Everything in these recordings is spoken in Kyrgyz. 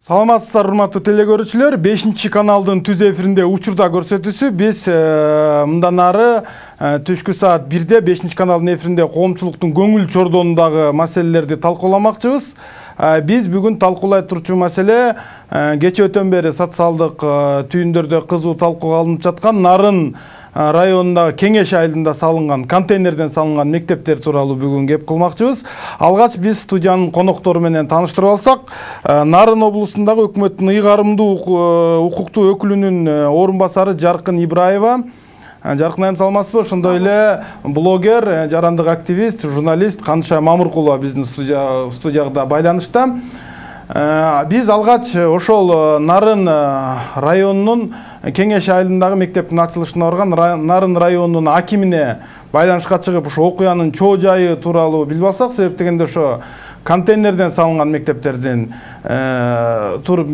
Саламатсыздар, урматтуу телекөрүүчүлөр. 5 каналдын түз эфиринде учурда көрсөтүүсү. Биз мындан ары түшкү саат 1-де 5 каналдын эфиринде коомчулуктун көңүл чордонундагы маселелерди талкууламакчыбыз. Биз бүгүн талкуулай турчу маселе кече өтөн бери социалдык түйүндөрдө кызуу талкууга алынып жаткан Нарын районундагы Кеңеш айылында салынган контейнерден салынган мектептер тууралуу бүгүн кеп кылмакчыбыз. Алгач биз студиянын коноктору менен тааныштырып алсак, Нарын облусундагы өкмөттүн ыйгарымдуу укуктуу өкүлүнүн орун басары Жаркын Ибраева. Жаркын айым, саламатсызбы? Ошондой эле блогер, жарандык активист, журналист Канша Мамыркулова биздин студияда байланышта. Биз алгач ошол Нарын районунун Кеңеш айылындагы мектептин ачылышына барган Нарын районунун акимине байланышка чыгып, ошо окуянын чоо жайы тууралуу билип алсак, себеп дегенде ошо контейнерден салынган мектептердин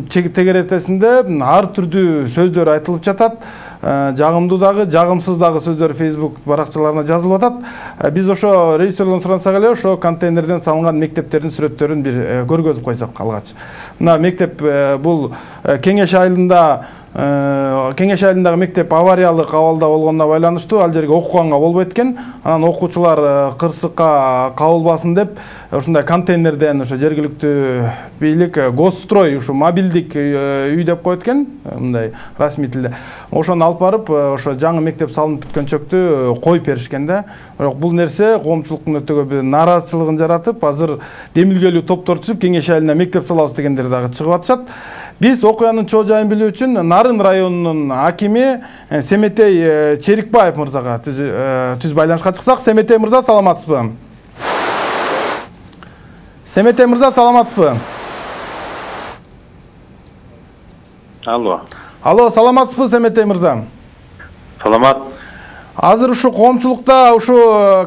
тегеретесинде ар түрдүү сөздөр айтылып жатат. Жагымдуу дагы, жагымсыз дагы сөздөр Facebook баракчаларына жазылып атат. Биз ошо режиссерден сурансак эле, ошо контейнерден салынган мектептердин сүрөттөрүн бир көргөзүп койсок алгач. Мына мектеп бул Кеңеш айылындагы мектеп авариялык абалда болгонуна байланыштуу ал жерге окуганга болбойт экен. Анан окуучулар кырсыкка кабылбасын деп ушундай контейнерден ошо жергиликтүү бийлик госстрой ушу мобилдик үй деп коет экен, мындай расмий тилде. Ошону алып барып, ошо жаңы мектеп салынып бүткөнчөктү коюп беришкен да. Бирок бул нерсе коомчулуктун өтө көп нааразычылыгын жаратып, азыр демилгелүү топтор түзүп Кеңеш айылына мектеп салабыз дегендер дагы чыгып атышат. Биз окуянын чоо жайын билүү үчүн Нарын районунун акими Семетей Черикбаев мырзага түз байланышка чыксак. Семетей мырза, саламатсызбы? Семетей мырза, саламатсызбы? Алло, саламатсызбы Семетей мырза? Саламат. Азыр ушу коомчулукта ушу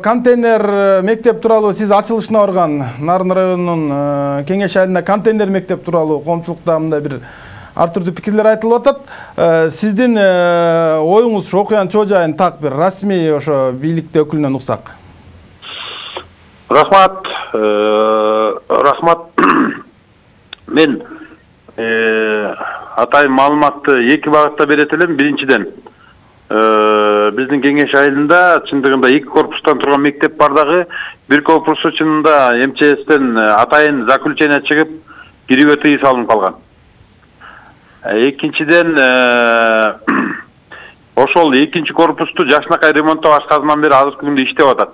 контейнер мектеп тууралуу сиз ачылышына барган Нарын районунун Кеңеш айылында контейнер мектеп тууралуу коомчулукта мындай бир ар түрдүү пикирлер айтылып атат. Сиздин оюңуз ушу окуянын чоо жайын так бир расмий ошо бийликте өкүлүнөн уксак. Рахмат. Мен атайын маалыматты эки багытта берет элем. Биринчиден, биздин Кеңеш айылында чындыгында 2 корпустан турган мектеп бар дагы. Бир корпусу чынында МЧСтен атайын заключение чыгып, кирүүгө тыюу салынып калган. Экинчиден, ошол 2 корпусту жакшынакай ремонттоо башкасынан бери азыркы күндө иштеп атат.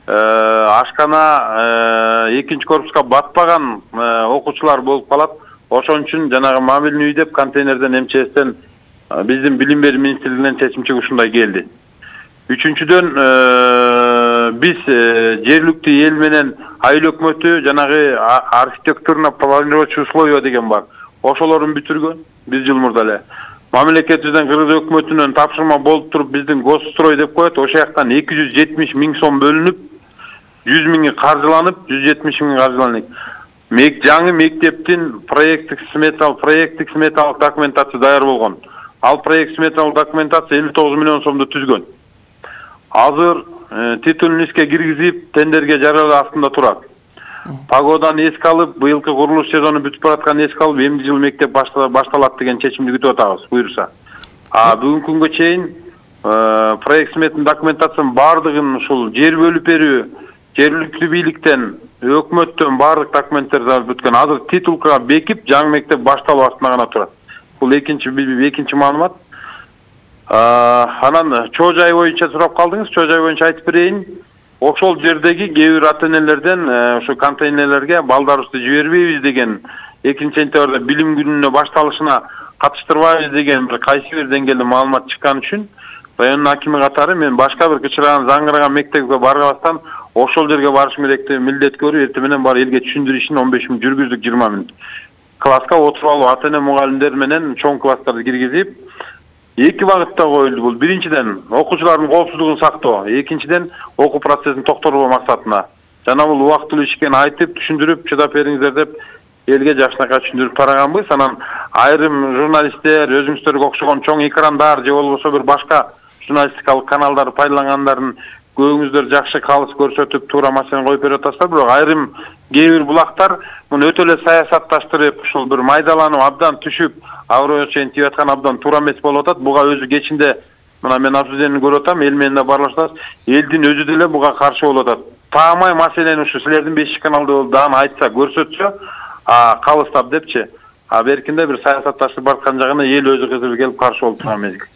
Ашкана 2 корпуска батпаган окуучулар болуп калат. Ошон үчүн жанагы мобильный үй деп контейнерден МЧСтен биздин билим берүү министрлигинен чечим чыгып ушундай келди. Үчүнчүдөн, биз жергиликтүү эл менен айыл өкмөтү жанагы архитектурно-планировочный условия деген бар. Ошолорун бүтүргөн биз жыл мурда эле. Мамлекетибизден Кыргыз өкмөтүнөн тапшырма болуп туруп биздин госстрой деп коет. Ошо жактан 270 миң сом бөлүнүп, 100 миңи каржыланып, 170 миң каржыланып. Жаңы мектептин проекттик сметалык документация даяр болгон. Ал проект сметалык документация 59 миллион сомду түзгөн. Азыр титулун иске киргизип, тендерге жарыялоо астында турат. Погоданы эске алып, быйылкы курулуш сезону бүтүп бараткан эске алып, эмди жыл мектеп башталат деген чечимди күтүп атабыз, буйруса. Бүгүнкү күнгө чейин проект сметалык документациянын бардыгын ушул жер бөлүп берүү, жергиликтүү бийликтен, өкмөттөн бардык документтерди бүткөн. Азыр титулга бекип, жаңы мектеп башталуу астында гана турат. Бул экинчи маалымат. Анан чоо жай боюнча сурап калдыңыз. Чоо жай боюнча айтып берейин. Ошол жердеги кээ бир ата-энелерден ушу контейнерлерге балдарыбызды жибербейбиз деген 2-сентябрда билим күнүнө башталышына катыштырбайбыз деген бир кайсы бир деңгээлде маалымат чыккан үчүн районун акими катары мен башка бир кычыраган заңгыраган мектепке барбастан ошол жерге барышым керек деп милдет көрүп, эртең менен бар элге түшүндүрүү ишин 15 мүнөт жүргүздүк, 20 мүнөт. Класска отуруп алуу ата-эне мугалимдер менен чоң класстарды киргизип, эки багытта коюлду бул. Биринчиден, окуучулардын коопсуздугун сактоо, экинчиден, окуу процессин токтотуу максатына. Жана бул убактылуу иш экенин айтып, түшүндүрүп, чыдап бериңиздер деп элге жакшынакай түшүндүрүп тараганбыз. Анан айрым журналисттер, өзүңүздөргө окшогон чоң экрандар же болбосо бир башка журналистикалык каналдарды пайдалангандардын көбүңүздөр жакшы калыс көрсөтүп туура маселени коюп берип атасыздар, бирок айрым кээ бир булактар муну өтө эле саясатташтырып, ушул бир майдаланып абдан түшүп, агыроо чейин тийип аткан абдан туура эмес болуп атат. Буга өзү кечинде мына мен обсуждениени көрүп атам, эл менен да баарлашабыз. Элдин өзү деле буга каршы болуп атат. Таамай маселени ушу силердин 5 каналда болуп дагы айтса, көрсөтсө, калыстап депчи. Беркинде бир саясатташып бараткан жагына эл өзү кызып келип каршы болуп турган мезгил.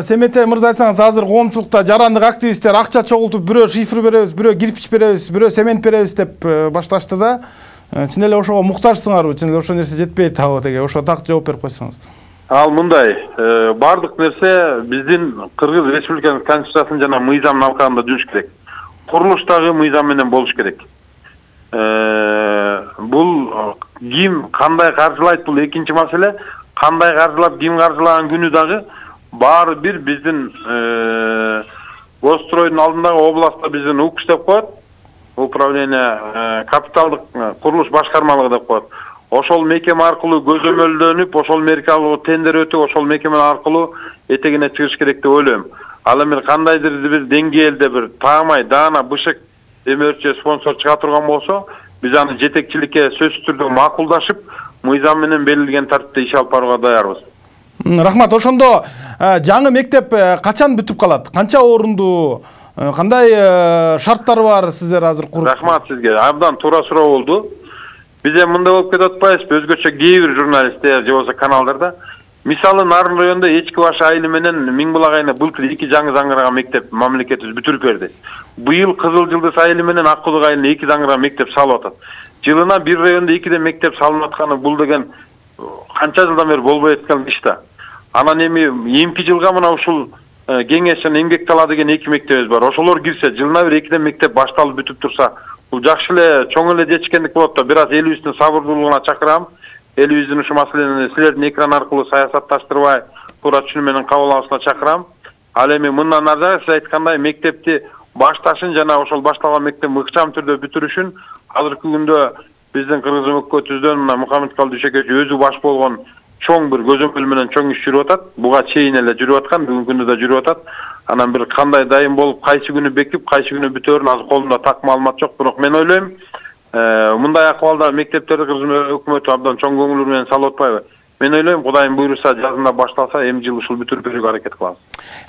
Семетей мырза, айтсаңыз, азыр коомчулукта жарандык активисттер акча чогултуп, бирөө шифр беребиз, бирөө кирпич беребиз, бирөө цемент беребиз деп башташты да. Чын эле ошого муктажсыңарбы? Чын эле ошо нерсе жетпейт табы деге, ошо так жооп берип койсоңуз. Ал мындай, бардык нерсе биздин Кыргыз Республикасынын конституциясынын жана мыйзамын алкагында жүрүш керек. Курулуштагы мыйзам менен болуш керек. Бул ким кандай каржылайт, бул экинчи маселе. Кандай каржылап, ким каржылаган күнү дагы баары бир биздин Госстройдун алдындагы областта биздин УКШ деп коет. Управление капиталдык курулуш башкармалыгы деп коет. Ошол мекеме аркылуу көзөмөлдөнүп, ошол меркалуу тендер өтүп, ошол мекеме аркылуу этегине чыгыш керек деп ойлойм. Ал эми кандайдыр бир деңгээлде бир таамай даана бышык демөөрчү спонсор чыга турган болсо, биз аны жетекчиликке сөзсүз түрдө макулдашып, мыйзам менен белгилеген тартипте иш алып барууга даярбыз. Рахмат. Ошондо жаңы мектеп качан бүтүп калат? Канча орундуу? Кандай шарттары бар сиздер азыр куруп? Рахмат сизге. Абдан туура суроо болду. Биз эми мындай болуп кетип атпайбызбы? Өзгөчө кээ бир журналисттер же болбосо каналдарда мисалы Нарын районунда Эчки баш айылы менен Миңбулак айылына былтыр 2 жаңы заңгырган мектеп мамлекетибиз бүтүрүп берди. Быйыл Кызыл Жылдыз айылы менен Ак Кудук айылына 2 заңгырган мектеп салып атат. Жылына бир районда 2 мектеп салынып атканы бул деген канча жылдан бери болбой аткан иш да. Анан эми эмки жылга мына ушул кеңеш жана эмгек тала деген 2 мектебиз бар. Ошолор кирсе, жылына бир 2 мектеп башталып бүтүп турса, бул жакшы эле чоң эле жетишкендик болот да. Бир аз элибиздин сабырдуулугуна чакырам. Элибиздин ушу маселени силердин экран аркылуу саясатташтырбай, туура түшүнүү менен кабыл алышына чакырам. Ал эми мындан ары сиз айткандай мектепти башташын жана ошол башталган мектепти ыкчам түрдө бүтүрүшүн азыркы күндө биздин Кыргыз өкмөтүбүздөн мына Мухаммедкалый Дүйшөкөч өзү баш болгон чоң бир көзөмөл менен чоң иш жүрүп атат. Буга чейин эле жүрүп аткан, бүгүнкү күндө да жүрүп атат. Анан бир кандай дайым болуп, кайсы күнү бекип, кайсы күнү бүтөөрүн азыр колумда так маалымат жок, бирок мен ойлойм, мындай акыбалда мектептерди Кыргыз өкмөтү абдан чоң көңүл менен салып атпайбы? Мен ойлойм, Кудайым буйруса жазында башталса, эми жыл ушул бүтүрүп берүүгө аракет кылабыз.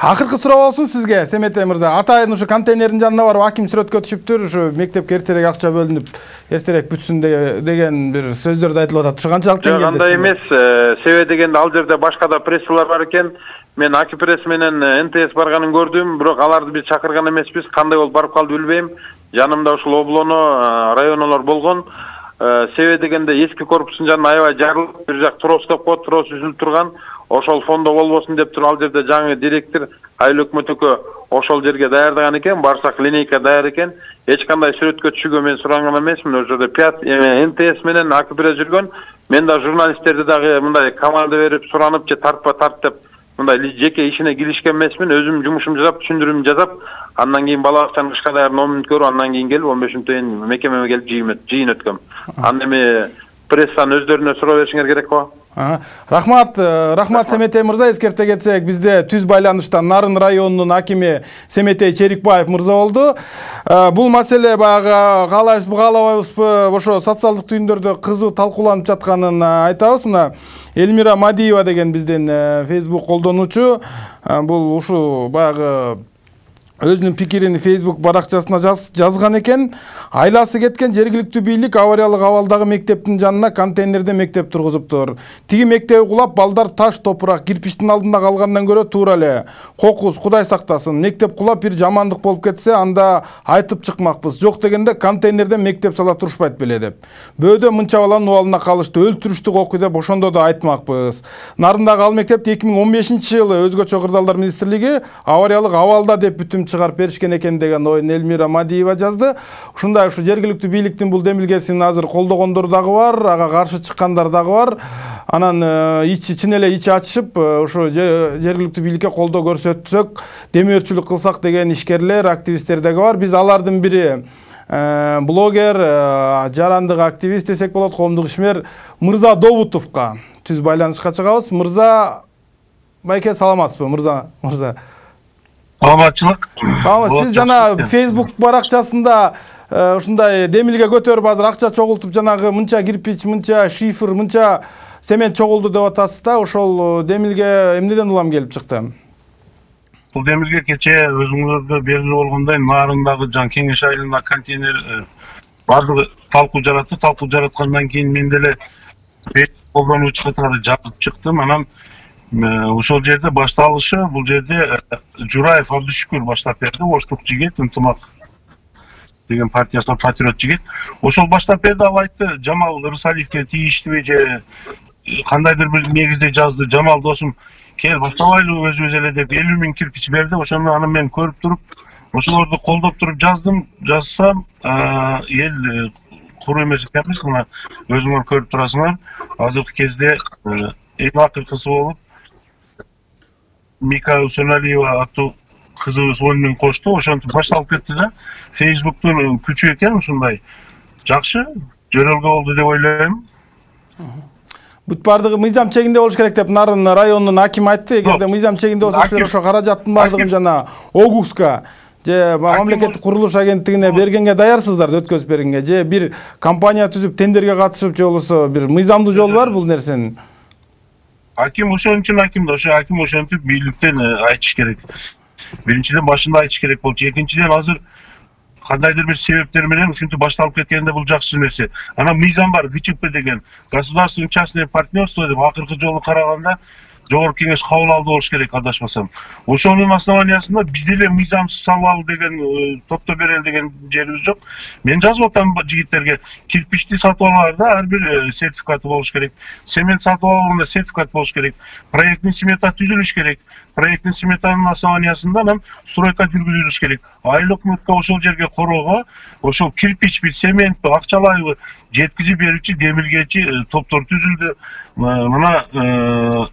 Акыркы суроо болсун сизге, Семетей мырза. Атайын ушу контейнердин жанына барып аким сүрөткө түшүптүр, ушу мектепке эртерээк акча бөлүнүп, эртерээк бүтсүн деген бир сөздөрдү айтылып атат. Ушу канчалык деңгээлде? Жок, андай эмес. Себеби дегенде ал жерде башка да прессалар бар экен. Мен Аки пресс менен НТС барганын көрдүм, бирок аларды биз чакырган эмеспиз. Кандай болуп барып калды билбейм. Жанымда ушул облоно, районолор болгон. Себеби дегенде эски корпустун жанына аябай жарылып, бир жак трос деп коет, трос үзүлүп турган. Ошол фондо болбосун деп туруп ал жерде жаңы директор айыл өкмөтүкө ошол жерге даярдаган экен, барсак линейка даяр экен. Эч кандай сүрөткө түшүүгө мен суранган эмесмин. Ошол жерде НТС менен АКПР жүргөн. Мен да журналисттерди дагы мындай команда берип суранып же тартпа тарт деп мындай жеке ишине киришкен эмесмин. Өзүм жумушумду жасап, түшүндүрүүмдү жасап, андан кийин бала бакчанын кышка даяр номун көрүп, андан кийин келип 15 мүнөттөн мекемеме келип жыйын өткөм. Анда эми прессанын өздөрүнө суроо беришиңер керек го. Рахмат, Семетей мырза. Эскерте кетсек, бизде түз байланышта Нарын районунун акими Семетей Черикбаев мырза болду. Бул маселе баягы каалайбызбы, каалабайбызбы, ошо социалдык түйүндөрдө кызуу талкууланып жатканын айтабыз. Мына Элмира Мадиева деген биздин Facebook колдонуучу бул ушу баягы өзүнүн пикирин Facebook баракчасына жазган экен. Айласы кеткен жергиликтүү бийлик авариялык абалдагы мектептин жанына контейнерде мектеп тургузуптур. Тиги мектеби кулап, балдар таш, топурак, кирпичтин алдында калгандан көрө туура эле. Кокус, Кудай сактасын. Мектеп кулап бир жамандык болуп кетсе, анда айтып чыкмакпыз. Жок дегенде контейнерде мектеп сала турушпайт беле деп. Бөөдө мынча баланын убалына калышты, өлтүрүштү окуй деп ошондо да айтмакпыз. Нарындагы ал мектепти 2015-жылы Өзгөчө кырдаалдар министрлиги авариялык абалда деп бүтүм чыгарып беришкен экен деген оюн Элмира Мадиева жазды. Ушундай ушу жергиликтүү бийликтин бул демилгесин азыр колдогондор дагы бар, ага каршы чыккандар дагы бар. Анан чын эле ичи ачышып, ушу жергиликтүү бийликке колдоо көрсөтсөк, демөөрчүлүк кылсак деген ишкерлер, активисттер дагы бар. Биз алардын бири блогер, жарандык активист десек болот, коомдук ишмер Мырза Добутовго түз байланышка чыгабыз. Мырза, Байке саламатсызбы мырза? Саламатчылык. Сиз жана Facebook баракчасында ушундай демилге көтөрүп азыр акча чогултуп жанагы мынча кирпич, мынча шифр, мынча семент чогулду деп атасыз да, ошол демилге эмнеден улам келип чыкты? Бул демилге кече өзүңөргө белгилүү болгондой Нарындагы жан Кеңеш айылына контейнер бардыгы талкуу жаратты. Талкуу жараткандан кийин мен деле колдонуучу катары жазып чыктым. Анан ошол жерде башталышы бул жерде Жураев Абдышүкүр баштап берди. Оштук жигит, ынтымак деген партиясынан патриот жигит. Ошол баштап берди. Ал айтты, Жамал Ырсалиевге тийиштиби же кандайдыр бир негизде жазды. Жамал досум, кел баштабайлы өзүбүз эле деп 50 000 кирпич берди. Ошону аны мен көрүп туруп, ошолорду колдоп туруп жазсам, эл куру эмес экенбиз, мына өзүңөр көрүп турасыңар. Азыркы кезде эң акыркысы болуп Мика Усеналиева аттуу кызыбыз 10 000 кошту. Ошентип башталып кетти да. Facebook'тун күчү экен ушундай. Жакшы, жөрөлгө болду деп ойлойм. Бүт бардыгы мыйзам чегинде болуш керек деп Нарын районунун акими айтты. Эгерде мыйзам чегинде болсо силер ошо каражаттын бардыгын жана ОГУСка же мамлекеттик курулуш агенттигине бергенге даярсыздар, өткөзүп бергенге, же бир компания түзүп тендерге катышып же болбосо бир мыйзамдуу жол бар бул нерсенин? Аким ошон үчүн аким да, ошо аким ошентип бийликтен айтыш керек. Биринчиден башында айтыш керек болчу. Экинчиден азыр кандайдыр бир себептер менен ушинтип башталып кеткенде бул жакшы нерсе. Анан мыйзам бар, ГЧП деген государственное частное партнерство деп акыркы жолу караганда Жогорку Кеңеш кабыл алды болуш керек, адашмасам. Ошонун основаниясында биз деле мыйзамсыз салалы деген топто берели деген жерибиз жок. Мен жазып атам жигиттерге, кирпичти сатып алганда ар бир сертификаты болуш керек. Семент сатып алганда сертификат болуш керек. Проектный смета түзүлүш керек. Проектный сметанын основаниясында анан стройка жүргүзүлүш керек. Айыл өкмөткө ошол жерге короого, ошол кирпичпи, сементпи, акчалайбы жеткизип берүүчү демилгечи топтор түзүлдү. Мына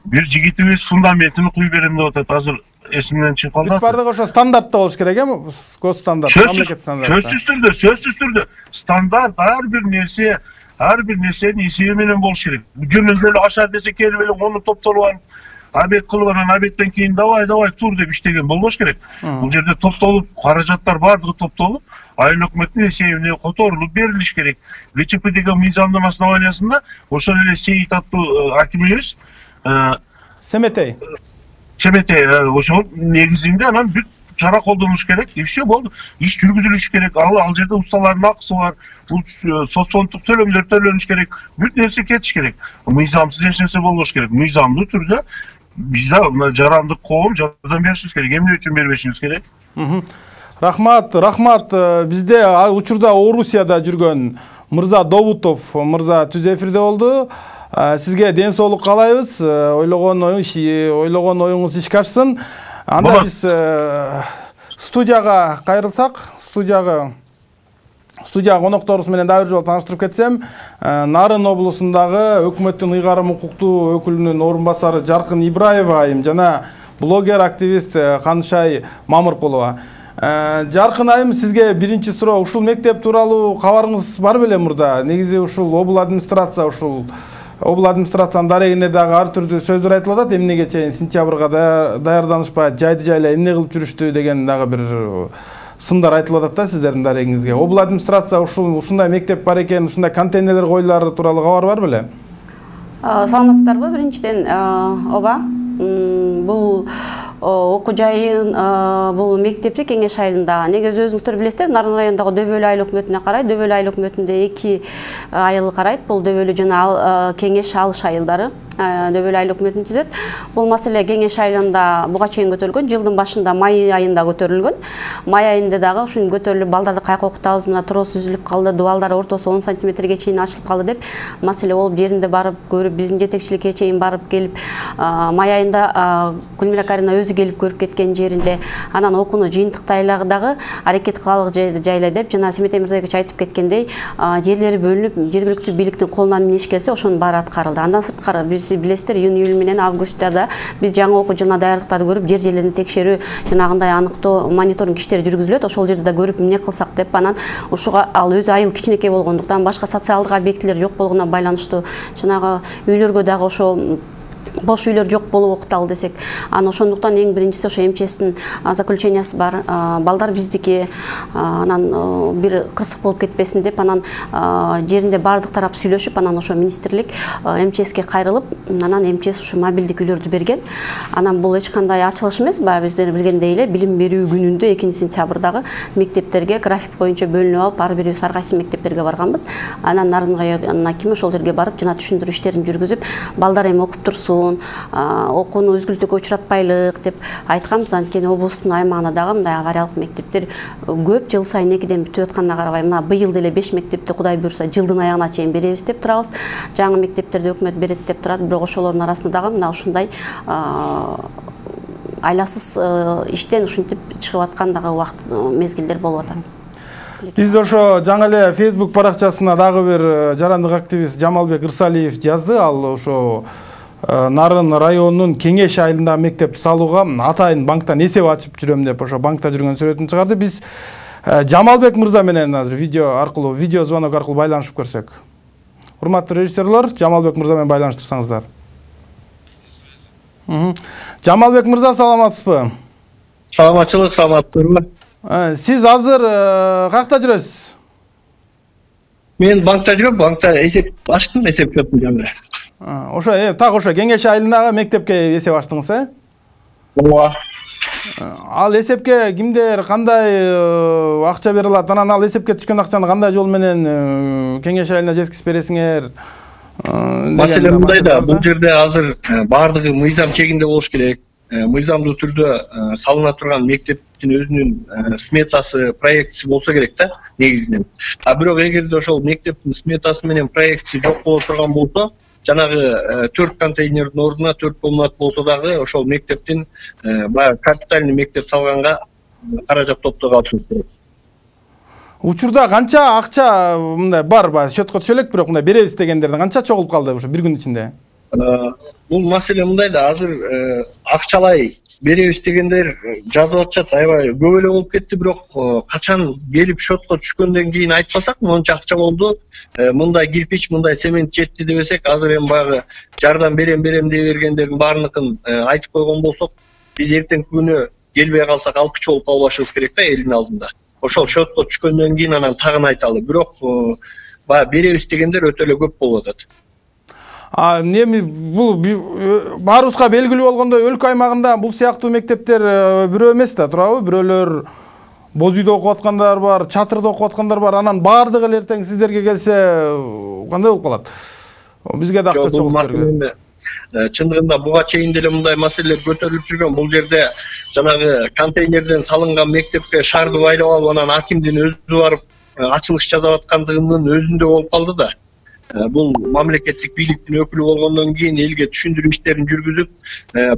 бир жигитибиз фундаментин куй берем деп атат. Азыр эсимден чыгып калды. Бардыгы ошо стандартта болуш керек эми? Госстандарт, мамлекет стандарты. Сөзсүз түрдө стандарт ар бир нерсенин эсеби менен болуш керек. Жөнөкөй эле ашар десе келип эле onu топтолуп алып, абет кылып анан абеттен кийин давай тур деп иштеген болбош керек. Бул жерде топтолуп, каражаттар бардыгы топтолуп, айыл өкмөттүн эсебине которулуп берилиш керек. ГЧП деген мыйзамдын основаниясында ошол эле Сейит аттуу акимибиз Семетей ошол негизинде анан бүт чара колдонуш керек. И все болду. Иш жүргүзүлүш керек. Ал жерде усталардын акысы бар. Бул соцфонддук төлөмдөр төлөнүш керек. Бүт нерсе кетиш керек. Мыйзамсыз эч нерсе болбош керек. Мыйзамдуу түрдө бизде мына жарандык коом жардам беришибиз керек. Эмне үчүн бербешибиз керек? Рахмат. Бизде учурда Орусияда жүргөн мырза Добутов мырза түз эфирде болду. Сизге ден соолук каалайбыз. Ойлогон оюңуз ишке ашсын. Анда биз студияга кайрылсак, студияга конокторубуз менен дагы бир жолу тааныштырып кетсем, Нарын облусундагы өкмөттүн ыйгарым укуктуу өкүлүнүн орун басары Жаркын Ибраева айым жана блогер активист Канышай Мамыркулова. Жаркын айым, сизге биринчи суроо, ушул мектеп тууралуу кабарыңыз бар беле мурда? Негизи ушул обул администрациянын дарегинде дагы ар түрдүү сөздөр айтылып атат. Эмнеге чейин сентябрга даярданышпай, жайды жайлай эмне кылып жүрүштү деген дагы бир сындар айтылып атат да сиздердин дарегиңизге. Обул администрация ушундай мектеп бар экен, ушундай контейнерлер коюлары тууралуу кабар бар беле? Саламатсыздарбы? Биринчиден, ооба. Бул окуу жайын, бул мектепти Кеңеш айылында. Негизи өзүңүздөр билесиздер, Нарын районундагы Дөбөлү айыл өкмөтүнө карайт. Дөбөлү айыл өкмөтүндө 2 айыл карайт. Бул Дөбөлү жана Кеңеш алыш айылдары. Дөбөлү айыл өкмөтүн түзөт. Бул маселе Кеңеш айылында буга чейин көтөрүлгөн. Жылдын башында май айында көтөрүлгөн. Май айында дагы ушун көтөрүлүп, балдарды кайка окутабыз, мына трос үзүлүп калды, дубалдар ортосу 10 сантиметрге чейин ачылып калды деп маселе болуп, жеринде барып көрүп, биздин жетекчиликке чейин барып келип, май айында Гүлмира Карина өзү келип көрүп кеткен жеринде, анан окууну жыйынтыктайлы дагы аракет кылалык жайлай деп, жана Семетей Мырзабекович айтып кеткендей, жерлери бөлүнүп, жергиликтүү бийликтин колунан эмне иш келсе, ошонун баары аткарылды. Андан сырткары биз билесиздер, июнь менен августта биз жаңы окуу жылына даярдыктарды көрүп, жерлерин текшерүү, жанагындай аныктоо, мониторинг иштери жүргүзүлөт. Ошол жерде да көрүп эмне кылсак деп, анан ушуга ал өзү айыл кичинекей болгондуктан, башка социалдык объектилер жок болгонуна байланыштуу, жанагы үйлөргө дагы ошо бош үйлөр жок болуп окуталы десек, анан ошондуктан эң биринчиси ошо МЧСтин заключениясы бар. Балдар биздики, анан бир кырсык болуп кетпесин деп, анан жеринде бардык тарап сүйлөшүп, анан ошо министрлик МЧСке кайрылып, анан МЧС ушу мобилдик үйлөрдү берген. Анан бул эч кандай ачылыш эмес, баягы биздер билгендей эле билим берүү күнүндө 2-сентябрдагы мектептерге график боюнча бөлүнүп алып, ар бирибиз ар кайсы мектептерге барганбыз. Анан Нарын районунун акими ошол жерге барып, жана түшүндүрүү иштерин жүргүзүп, балдар эми окуп турсун, окууну өзгүлтүүгө учуратпайлык деп айтканбыз. Анткени облустун аймагында дагы мындай авариялык мектептер көп, жыл сайын 2ден бүтүп атканына карабай, мына быйыл деле 5 мектепти Кудай буйрса жылдын аягына чейин беребиз деп турабыз. Жаңы мектептерди өкмөт берет деп турат, бирок ошолордун арасында дагы мына ушундай айласыз иштен ушинтип чыгып аткан дагы убакыт мезгилдер болуп атат. Биз ошо жаңы эле Facebook баракчасына дагы бир жарандык активист Жамалбек Ырсалиев жазды. Ал ошо Нарын районунун Кеңеш айылындагы мектепти салууга атайын банктан эсеп ачып жүрөм деп ошо банкта жүргөн сүрөтүн чыгарды. Биз Жамалбек мырза менен азыр видео звонок аркылуу байланышып көрсөк. Урматтуу режиссерлор, Жамалбек мырза менен байланыштырсаңыздар. Жамалбек мырза, саламатсызбы? Саламатчылык, саламаттырбы? Сиз азыр какта жүрөсүз? Мен банкта жүрөм, банкта эсеп ачтым, эсеп чөптү жаңы. Ошо так ошо Кеңеш айылындагы мектепке эсеп ачтыңыз, Ооба. Ал эсепке кимдер кандай акча бере алат? Анан ал эсепке түшкөн акчаны кандай жол менен Кеңеш айылына жеткизип бересиңер? Маселе мындай да, бул жерде азыр баардыгы мыйзам чегинде болуш керек. Мыйзамдуу түрдө салына турган мектептин өзүнүн сметасы, проектиси болсо керек да, негизинен. Бирок эгерде ошол мектептин сметасы менен проектиси жок боло турган болсо, жанагы 4 контейнердин ордуна 4 комнат болсо дагы ошол мектептин баягы капитальный мектеп салганга каражат топтого алышыбыз керек. Учурда канча акча мындай бар, счетко түшө элек, бирок мындай беребиз дегендердин канча чогулуп калды ошо бир күн ичинде? Бул маселе мындай да, азыр акчалай беребиз дегендер жазып атышат, аябай көп эле болуп кетти, бирок качан келип счетко түшкөндөн кийин айтпасак, монча акча болду, мындай кирпич, мындай цемент жетти дебесек, азыр эми баягы жардам берем дей бергендердин баарыныкын айтып койгон болсок, биз эртеңки күнү келбей калсак алкыч болуп калбашыбыз керек да элдин алдында. Ошол счетко түшкөндөн кийин анан тагын айталы, бирок баягы беребиз дегендер өтө эле көп болуп атат. Эми бул баарыбызга белгилүү болгондой өлкө аймагында бул сыяктуу мектептер бирөө эмес да, туурабы? Бирөөлөр боз үйдө окуп аткандар бар, чатырда окуп аткандар бар. Анан баардыгы эле эртең сиздерге келсе кандай болуп калат? Бизге да акча чогулуп берген. Чындыгында буга чейин деле мындай маселелер көтөрүлүп жүргөн. Бул жерде жанагы контейнерден салынган мектепке шарды байлап алып, анан акимдин өзү барып ачылыш жасап аткандыгынын өзүндө болуп калды да. Бул мамлекеттик бийликтин өкүлү болгондон кийин элге түшүндүрүү иштерин жүргүзүп,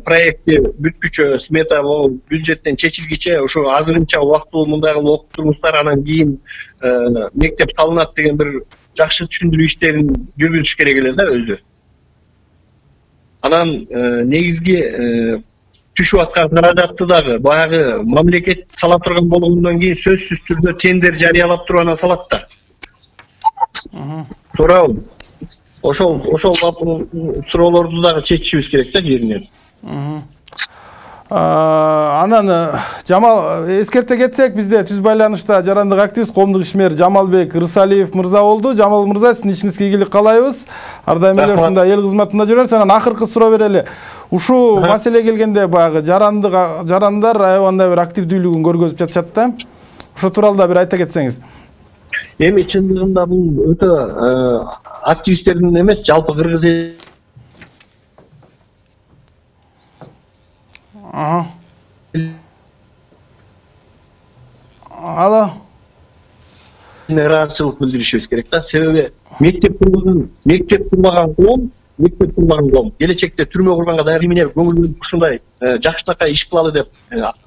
проектти бүткүчө, смета бюджеттен чечилгиче ошо азырынча убактылуу мындай кылып окуп туруңуздар, анан кийин мектеп салынат деген бир жакшы түшүндүрүү иштерин жүргүзүш керек эле да өзү. Анан негизги түшүп аткан каражатты дагы баягы мамлекет сала турган болгондон кийин сөзсүз түрдө тендер жарыялап туруп анан салат да. Туурабы? Ошол суроолорду дагы чечишибиз керек да жеринен. Анан Жамал эскерте кетсек, бизде түз байланышта жарандык активист, коомдук ишмер Жамалбек Ырсалиев мырза болду. Жамал мырза, сиздин ишиңизге ийгилик каалайбыз. Ар дайым эле ушундай эл кызматында жүрөсүз. Анан акыркы суроо берели. Ушул маселе келгенде баягы жарандар аябандай бир активдүүлүгүн көргөзүп жатышат да. Ошо тууралуу да бир айта кетсеңиз. Эми чындыгында бул өтө активисттердин эмес, жалпы кыргыз эл. Алло. Ыраазычылык билдиришибиз керек да. Себеби мектеп курмаган коом келечекте түрмө курганга даяр эмне көңүл ушундай жакшынакай иш кылалы деп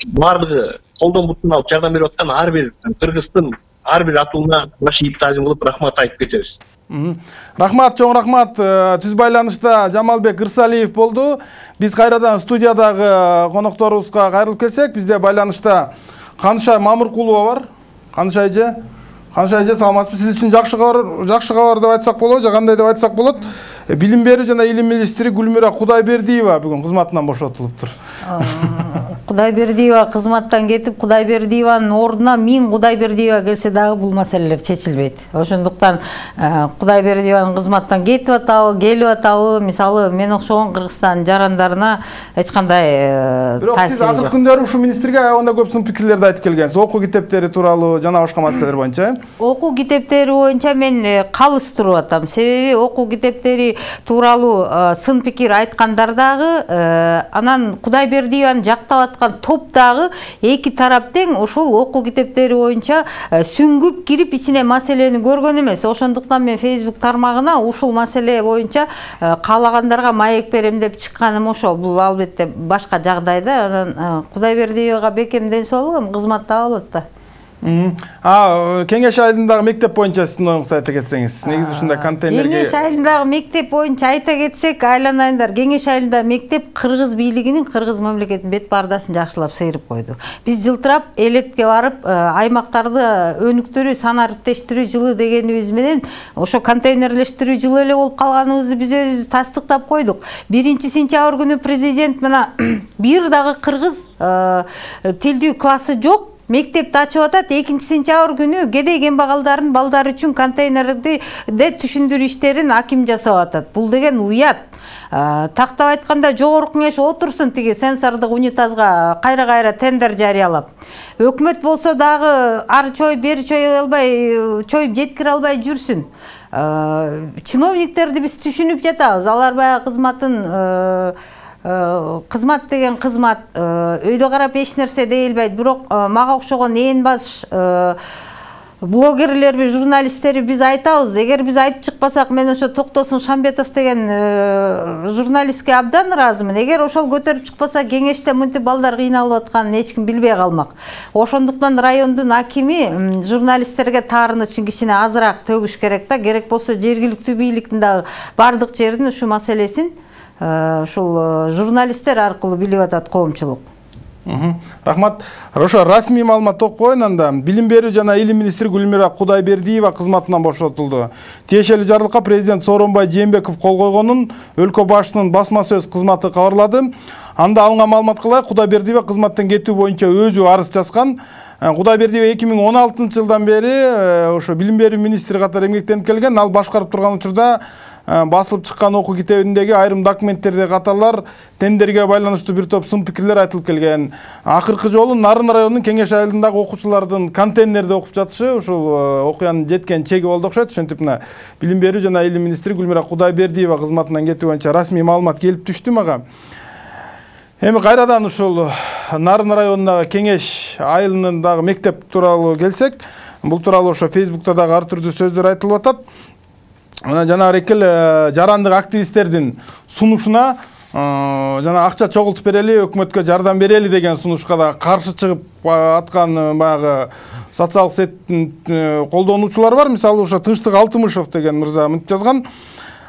баардыгы колдон бутун алып жардам берип аткан ар бир кыргыздын ар бир атууна баш ийип таазим кылып рахмат айтып кетебиз. Рахмат, чоң рахмат. Түз байланышта Жамалбек Ырсалиев болду. Биз кайрадан студиядагы конокторубузга кайрылып келсек, бизде байланышта Канышай Мамыркулова бар. Канышай эже, саламатсызбы? Сиз үчүн жакшы кабар деп айтсак болобу же кандай деп айтсак болот? Билим берүү жана илим министри Гүлмира Кудайбердиева бүгүн кызматынан бошотулуптур. Кудайбердиева кызматтан кетип, Кудайбердиеванын ордуна Мин Кудайбердиева келсе дагы бул маселелер чечилбейт. Ошондуктан Кудайбердиеванын кызматтан кетип атабы, келип атабы, мисалы мен окшогон Кыргызстан жарандарына эч кандай бирок сиз акыркы күндөрү ушул министрге аябаганда көп сын пикирлерди айтып келгенсиз. Окуу китептери тууралуу жана башка маселелер боюнча. Окуу китептери боюнча мен калыс туруп атам. Себеби окуу китептери тууралуу сын пикир айткандар дагы, анан Кудайбердиеваны жактап аткан топ дагы эки тарап тең ошол окуу китептери боюнча сүңгүп кирип ичине маселени көргөн эмес. Ошондуктан мен Facebook тармагына ушул маселе боюнча каалагандарга маек берем деп чыкканым ошол. Бул албетте башка жагдайда, анан Кудайбердиевага бекем ден соолук, кызматта болот да. Кеңеш айылындагы мектеп боюнча сиздин оюңузду айта кетсеңиз. Негизи ушундай контейнерге Кеңеш айылындагы мектеп боюнча айта кетсек, айланайындар, Кеңеш айылындагы мектеп Кыргыз бийлигинин, Кыргыз мамлекетинин бет бардасын жакшылап сейрип койду. Биз жылтырап элетке барып, аймактарды өнүктүрүү, сан ариптештирүү жылы дегенибиз менен ошо контейнерлештирүү жылы эле болуп калганыбызды биз өзүбүз тастыктап койдук. 1-сентябрь күнү президент мына бир дагы кыргыз тилдүү классы жок. Мектепти ачып атат. 2-сентябрь күнү кедей кембагалдардын балдары үчүн контейнерди түшүндүрүү иштерин аким жасап атат. Бул деген уят. Тактап айтканда жогорку кеңеш отурсун тиги сенсордук унитазга кайра тендер жарыялап. Өкмөт болсо дагы ары чоюп, бери чоюп албай, чоюп жеткире албай жүрсүн. Чиновниктерди биз түшүнүп жатабыз. Алар баягы кызматын кызмат деген кызмат, өйдө карап эч нерсе дейилбейт. Бирок мага окшогон ээн баш блогерлерби, журналисттерби биз айтабыз. Эгер биз айтып чыкпасак, мен ошо Токтосун Шамбетов деген журналистке абдан ыраазымын. Эгер ошол көтөрүп чыкпаса, кеңеште мынтип балдар кыйналып атканын эч ким билбей калмак. Ошондуктан райондун акими журналисттерге таарыныч кичине азыраак төгүш керек да. Керек болсо жергиликтүү бийликтин дагы бардык жердин ушу маселесин ушул журналисттер аркылуу билип атат коомчулук. Рахмат. Ошо расмий маалымат окуп коеюн анда. Билим берүү жана илим министри Гүлмира Кудайбердиева кызматынан бошотулду. Тиешелүү жарлыкка президент Сооронбай Жээнбеков кол койгонун өлкө башчысынын басма сөз кызматы кабарлады. Анда алынган маалымат кылай, Кудайбердиева кызматтан кетүү боюнча өзү арыз жазган. Кудайбердиева 2016-жылдан бери ошо билим берүү министри катары эмгектенип келген. Ал башкарып турган учурда басылып чыккан окуу китебиндеги айрым документтерде катарлар тендерге байланыштуу бир топ сын пикирлер айтылып келген. Акыркы жолу Нарын районунун Кеңеш айылындагы окуучулардын контейнерде окуп жатышы ушул окуянын жеткен чеги болду окшойт. Ошентип мына билим берүү жана илим министри Гүлмира Кудайбердиева кызматынан кетүү боюнча расмий маалымат келип түштү мага. Эми кайрадан ушул Нарын районундагы Кеңеш айылындагы мектеп тууралуу келсек, бул тууралуу ошо Facebook'та дагы ар түрдүү сөздөр айтылып атат. Мына жанагы экил жарандык активисттердин сунушуна жана акча чогултуп берели, өкмөткө жардам берели деген сунушка да каршы чыгып аткан баягы социалдык сеттин колдонуучулар бар. Мисалы ошо Тынчтык Алтымышев деген мырза мынтип жазган: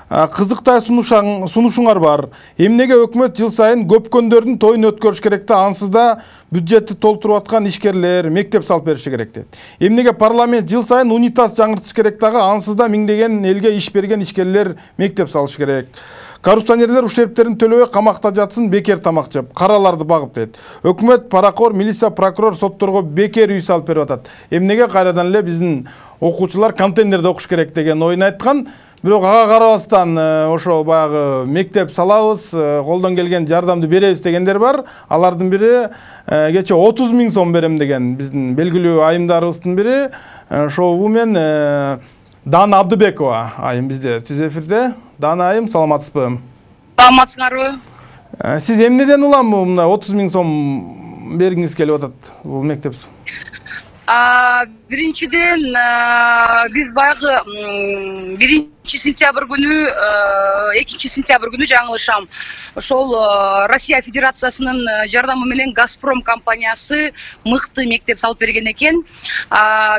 кызыктай сунушуңар бар. Эмнеге өкмөт жыл сайын көпкөндөрдүн тоюн өткөрүш керек да, ансыз да бюджетти толтуруп аткан ишкерлер мектеп салып бериши керек дейт. Эмнеге парламент жыл сайын унитаз жаңыртыш керек дагы, ансыз да миңдеген элге иш берген ишкерлер мектеп салыш керек. Коррупционерлер ушерптерин төлөбөй камакта жатсын, бекер тамак жеп, караларды багып дейт. Өкмөт, паракор, милиция, прокурор, сотторго бекер үй салып берип атат. Эмнеге кайрадан эле биздин окуучулар контейнерде окуш керек деген оюн айткан. Бирок ага карабастан ошо баягы мектеп салабыз, колдон келген жардамды беребиз дегендер бар. Алардын бири кече 30 000 сом берем деген биздин белгилүү айымдарыбыздын бири шоу-вумен Дана Абдыбекова айым бизде түз эфирде. Дана айым, саламатсызбы? Саламатсыңарбы? Сиз эмнеден улам мына 30 000 сом бергиңиз келип атат бул мектеп? Биринчиден биз баягы 1-сентябрь күнү, 2-сентябрь күнү жаңылышам. Ошол Россия Федерациясынын жардамы менен Газпром компаниясы мыкты мектеп салып берген экен.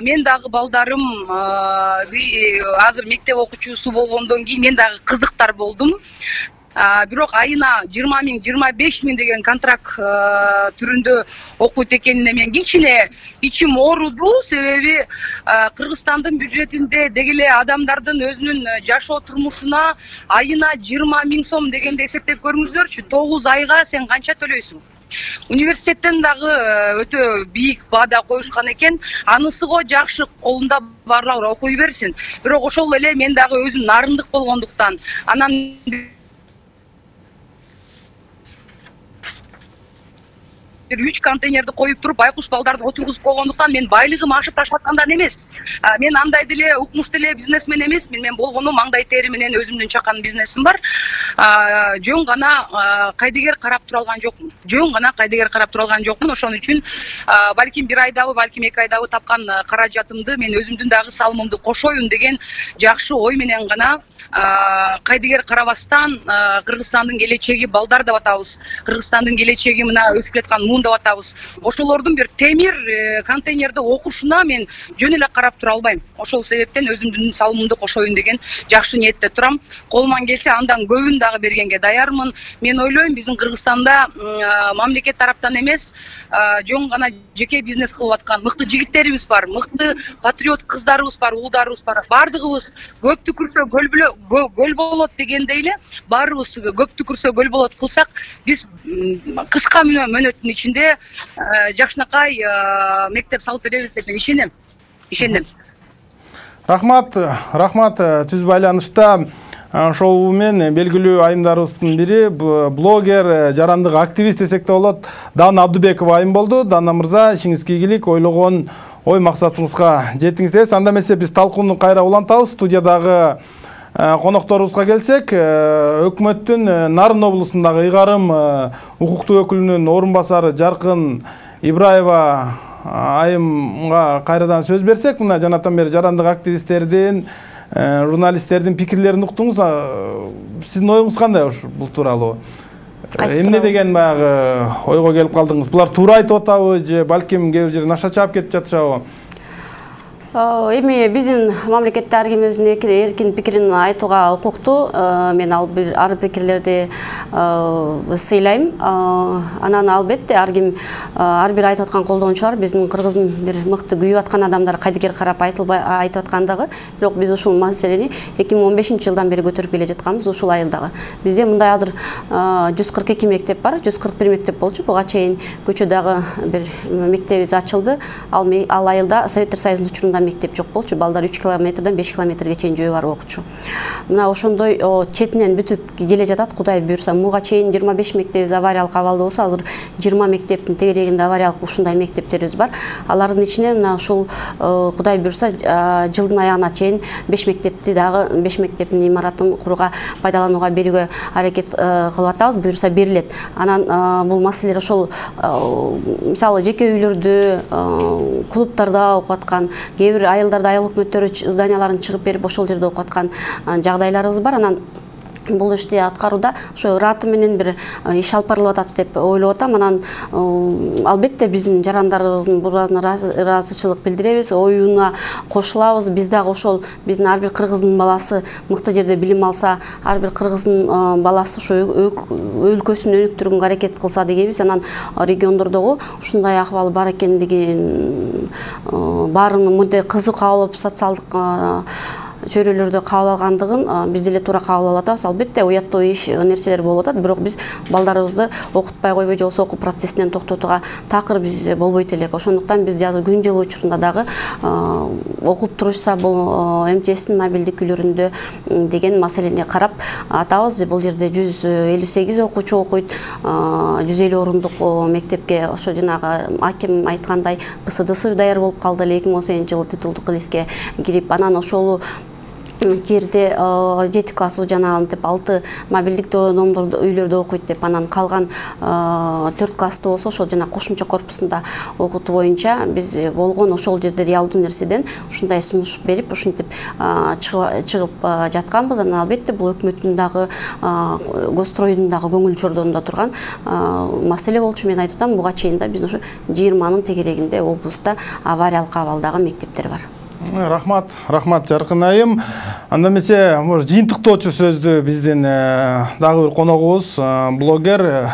Мен дагы балдарым азыр мектеп окуучусу болгондон кийин мен дагы кызыктар болдум. бирок айына 20 миң 25 миң деген контракт түрүндө окуйт экенине мен кичине ичим ооруду. Себеби Кыргызстандын бюджетинде деги эле адамдардын өзүнүн жашоо турмушуна айына 20 миң сом дегенде эсептеп көрүңүзлөрчү. 9 айга сен канча төлөйсүң? Университеттен дагы өтө бийик баада коюшкан экен. Анысы го жакшы, колунда барлар окуй берсин. Бирок ошол эле мен дагы өзүм нарындык болгондуктан, анан 3 контейнерди коюп туруп байкуш балдарды отургузуп койгондуктан мен байлыгым ашып таштаткандан эмес. Мен андай деле укмуш деле бизнесмен эмесмин. Мен болгону маңдай тери менен өзүмдүн чакан бизнесим бар. Жөн гана кайдыгер карап тура алган жокмун. Ошон үчүн балким 1 айдабы, балким 2 айдабы тапкан каражатымды мен өзүмдүн дагы салымымды кошоюн деген жакшы ой менен гана кайдыгер карабастан Кыргызстандын келечеги балдар деп атабыз. Кыргызстандын келечеги мына өсүп жаткан муун деп атабыз. Ошолордун бир темир контейнерде окушуна мен жөн эле карап тура албайм. Ошол себептен өзүмдүн салымымды кошоюн деген жакшы ниетте турам. Колуман келсе андан көбүн дагы бергенге даярмын. Мен ойлойм биздин Кыргызстанда мамлекет тараптан эмес, жөн гана жеке бизнес кылып аткан мыкты жигиттерибиз бар, мыкты патриот кыздарыбыз бар, уулдарыбыз бар. Бардыгыбыз көп түкүрсө гөл болот дегендей эле, баарыбыз көп түкүрсө гөл болот кылсак, биз кыска мөөнөттүн ичинде жакшынакай мектеп салып беребиз деп мен ишенем. Рахмат, түз байланышта шоу мен белгилүү айымдарыбыздын бири блогер, жарандык активист десек да болот, Дана Абдыбекова айым болду. Дана мырза, ишиңизге ийгилик, ойлогон ой максатыңызга жетиңиз. Анда эмесе биз талкууну кайра улантабыз. Студиядагы конокторубузга келсек, өкмөттүн Нарын облусундагы ыйгарым укуктуу өкүлүнүн орун басары Жаркын Ибраева айымга кайрадан сөз берсек, мына жанатан бери жарандык активисттердин, журналисттердин пикирлерин уктуңуз. Сиздин оюңуз кандай бул тууралуу? Эмне деген баягы ойго келип калдыңыз? Булар туура айтып атабы же балким кээ бир жерден аша чаап кетип жатышабы? Эми биздин мамлекетте ар ким өзүнүн эркин пикирин айтууга укуктуу. Мен ар пикирлерди сыйлайм. Анан албетте ар ким ар бир айтып аткан колдонуучулар биздин Кыргыздын бир мыкты күйүп аткан адамдар кайдыгер карап айтып аткандагы. Бирок биз ушул маселени 2015-жылдан бери көтөрүп келе жатканбыз, ушул айылдагы. Бизде мындай азыр 142 мектеп бар, 141 мектеп болчу. Буга чейин көчөдөгү бир мектебибиз ачылды. Ал айылда Советтер Союзунун учурунда мектеп жок болчу. Балдар 3 километрден 5 километрге чейин жөө барып окучу. Мына ошондой четинен бүтүп келе жатат. Кудай буйрса, муга чейин 25 мектебибиз авариялык абалда болсо, азыр 20 мектептин тегерегинде авариялык ушундай мектептерибиз бар. Алардын ичине мына ушул Кудай буйрса жылдын аягына чейин 5 мектепти дагы 5 мектептин имаратын курууга, пайдаланууга берүүгө аракет кылып атабыз. Буйрса берилет. Анан бул маселелер ошол мисалы жеке үйлөрдө, клубтарда окуп аткан, кээ бир айылдарда айыл өкмөттөрү зданияларын чыгып берип ошол жерде окуп аткан жагдайларыбыз бар. Анан бул ишти аткарууда ошо ыраты менен бир иш алып барылып атат деп ойлоп атам. Анан албетте биздин жарандарыбыздын ыраазычылык билдиребиз, оюна кошулабыз. Биз дагы ошол биздин ар бир кыргыздын баласы мыкты жерде билим алса, ар бир кыргыздын баласы ошо өлкөсүн өнүктүргөнгө аракет кылса дегенбиз. Анан региондордогу ушундай акыбал бар экендигин баарынын мындай кызык кабыл алып, социалдык чөйрөлөрдө кабыл алгандыгын биз деле туура кабыл алып атабыз. Албетте уяттуу иш нерселер болуп атат, бирок биз балдарыбызды окутпай койбой же болбосо окуу процессинен токтотууга такыр биз болбойт элек. Ошондуктан биз азыр күн жылуу учурунда дагы окуп турушса бул МЧСтин мобилдик үйлөрүндө деген маселени карап атабыз. Бул жерде 158 окуучу окуйт, 150 орундук мектепке ошо жанагы аким айткандай ПСДС даяр болуп калды эле 2018-жылы титулдук листке кирип. Анан ошол жерде 7 класс жанагынтип 6 мобилдик домдордо үйлөрдө окуйт деп, анан калган 4 классты болсо ошол жана кошумча корпусунда окутуу боюнча биз болгон ошол жерде реалдуу нерседен ушундай сунуш берип ушинтип чыгып жатканбыз. Анан албетте бул өкмөттүн дагы Гостройдун дагы көңүл чордонунда турган маселе болчу. Мен айтып атам, буга чейин да биздин ошо 20нын тегерегинде облуста авариялык абалдагы мектептер бар. Рахмат Жаркын айым. Анда эмесе, жыйынтыктоочу сөздү биздин дагы бир коногубуз, блогер,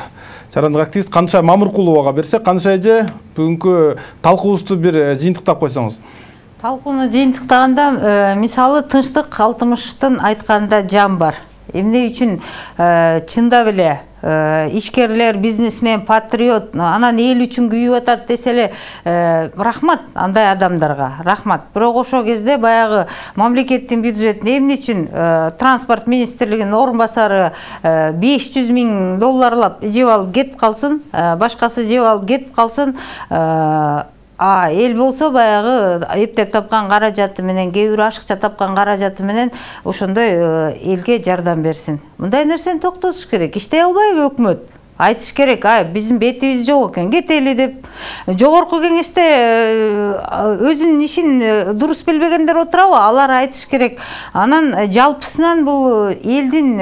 жарандык активист Канышай Мамыркуловага берсек. Канышай эже, бүгүнкү талкуубузду бир жыйынтыктап койсоңуз. Талкууну жыйынтыктаганда, мисалы Тынчтык Калтымыштын айтканында жан бар. Эмне үчүн чындап эле ишкерлер, бизнесмен, патриот, анан эл үчүн күйүп атат десе эле, рахмат андай адамдарга, рахмат. Бирок ошол кезде баягы мамлекеттин бюджетин эмне үчүн транспорт министрлигинин орун басары $500 000 жеп алып кетип калсын, башкасы жеп алып кетип калсын, эл болсо баягы эптеп тапкан каражаты менен, кээ бирөө ашыкча тапкан каражаты менен ошондой элге жардам берсин. Мындай нерсени токтотуш керек. Иштей албайбы өкмөт? Айтыш керек, биздин бетибиз жок экен, кетели деп. Жогорку кеңеште өзүнүн ишин дурус билбегендер отурабы? Алар айтыш керек. Анан жалпысынан бул элдин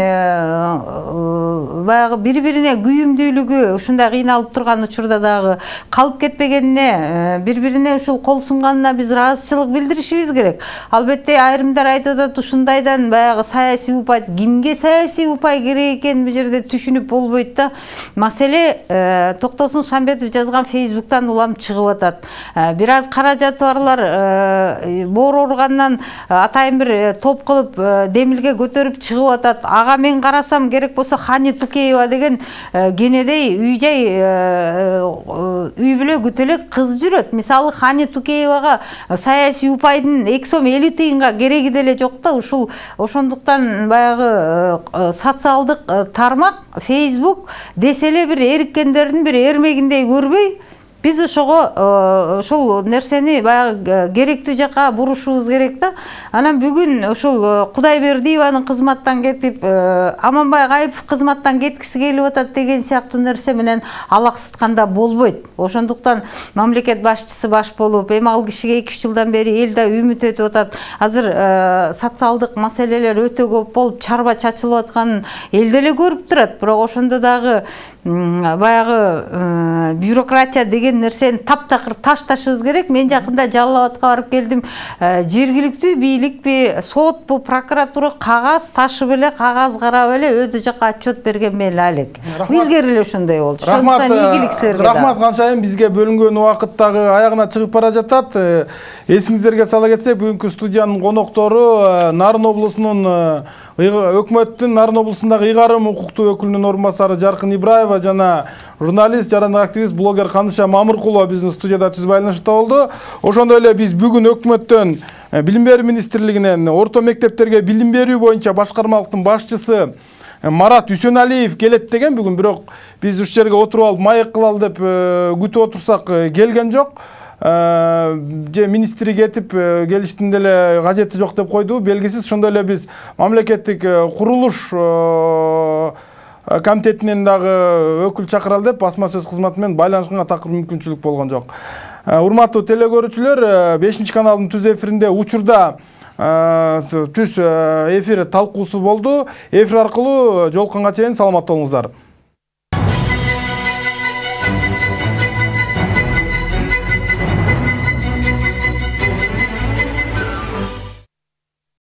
баягы бири-бирине күйүмдүүлүгү ушундай кыйналып турган учурда дагы калып кетпегенине, бири-бирине ушул кол сунганына биз ыраазычылык билдиришибиз керек. Албетте айрымдар айтып атат, ушундайдан баягы саясий упай, кимге саясий упай керек экенин бул жерде түшүнүп болбойт да. Маселе Токтосун Шамбетов жазган Фейсбуктан улам чыгып атат. Бир аз каражаты барлар боор ооругандан атайын бир топ кылып демилге көтөрүп чыгып атат. Ага мен карасам керек болсо Хани Тукеева деген кенедей үй бүлө күтөлөк кыз жүрөт. Мисалы Хани Тукеевага саясий упайдын 2 сом 50 тыйынга кереги деле жок да. Ошондуктан баягы социалдык тармак Facebook деселе бир эриккендердин бир эрмегиндей көрбөй, биз ошол нерсени баягы керектүү жака бурушубуз керек да. Анан бүгүн ошол Кудайбердиеванын кызматтан кетип, Аманбай Кайыпов кызматтан кеткиси келип атат деген сыяктуу нерсе менен алаксытканда болбойт. Ошондуктан мамлекет башчысы баш болуп, эми ал кишиге 2-3 жылдан бери эл да үмүт өтүп атат. Азыр социалдык маселелер өтө көп болуп, чарба чачылып атканын эл деле көрүп турат. Бирок ошондо дагы баягы бюрократия деген нерсени таптакыр ташташыбыз керек. Мен жакында Жалал Абадка барып келдим. Жергиликтүү бийликпи, сотпу, прокуратура кагаз ташып эле, кагаз карап эле өтө жака отчет берген мели алек. Илгери эле ошондой болчу. Ошондуктан ийгилик силерге. Рахмат Канышайым, бизге бөлүнгөн убакыт дагы аягына чыгып бара жатат. Эсиңиздерге сала кетсек, бүгүнкү студиянын коноктору Нарын облусунун өкмөттүн Нарын облусундагы ыйгарым укуктуу өкүлүнүн орун басары Жаркын Ибраева жана журналист, жарандык активист, блогер Канышай Мамыркулова биздин студияда түз байланышта болду. Ошондой эле биз бүгүн өкмөттөн Билим берүү министрлигинен орто мектептерге билим берүү боюнча башкармалыктын башчысы Марат Үсөналиев келет деген бүгүн, бирок биз ушул жерге отуруп алып маек кылалы деп күтүп отурсак келген жок. Же министри кетип келиштин деле кажети жок деп койду, белгисиз. Ошондой эле биз мамлекеттик курулуш комитетинен дагы өкүл чакыралы деп басма сөз кызматы менен байланышканга такыр мүмкүнчүлүк болгон жок. Урматтуу телекөрүүчүлөр, 5-каналдын түз эфиринде учурда түз эфир талкуусу болду. Эфир аркылуу жолукканга чейин саламатта болуңуздар.